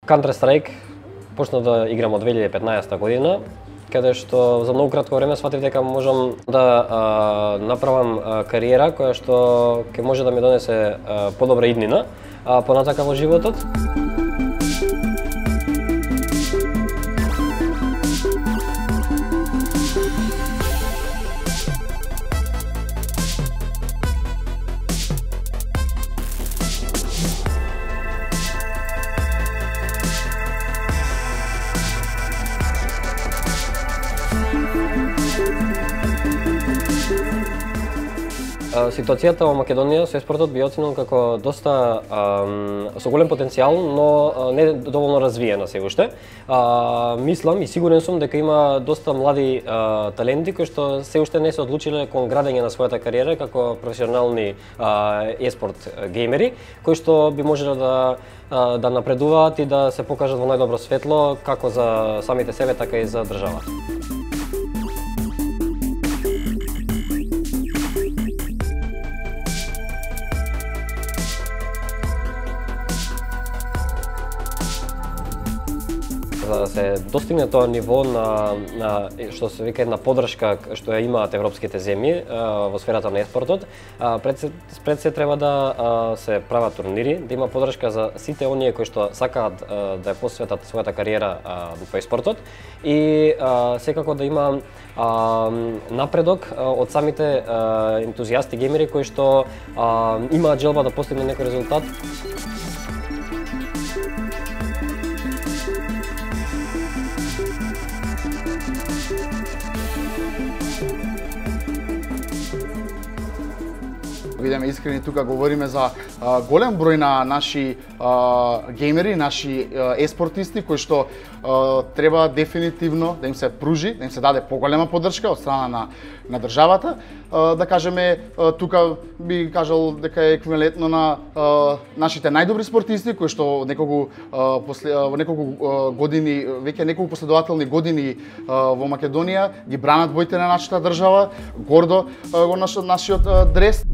Counter Strike почна да играм од 2015 година, каде што за многу кратко време сфатив дека можам да направам кариера која што ќе може да ми донесе подобра иднина понатака во животот. Ситуацијата во Македонија со еспортот би оценил како доста со голем потенцијал, но не доволно развиена се уште. Мислам и сигурен сум дека има доста млади таленти кои што се уште не се одлучиле кон градење на својата кариера како професионални еспорт геймери, кои што би можеле да напредуваат и да се покажат во најдобро светло како за самите себе, така и за државата. За да се достигне тоа ниво на што се вика една поддршка што ја имаат европските земји во сферата на еспортот, пред се треба да се прават турнири, да има поддршка за сите оние кои што сакаат да ја посветат својата кариера во еспортот и секако да има напредок од самите ентузијасти геймери кои што имаат желба да постигнат некој резултат. Бидеме искрени, тука говориме за голем број на наши геймери, наши еспортисти кои што треба дефинитивно да им се пружи, да им се даде поголема поддршка од страна на државата. Да кажеме, тука би кажал дека е еквивалентно на нашите најдобри спортисти кои што во неколку години, веќе неколку последователни години во Македонија ги бранат боите на нашата држава, гордо го носат нашиот дрес.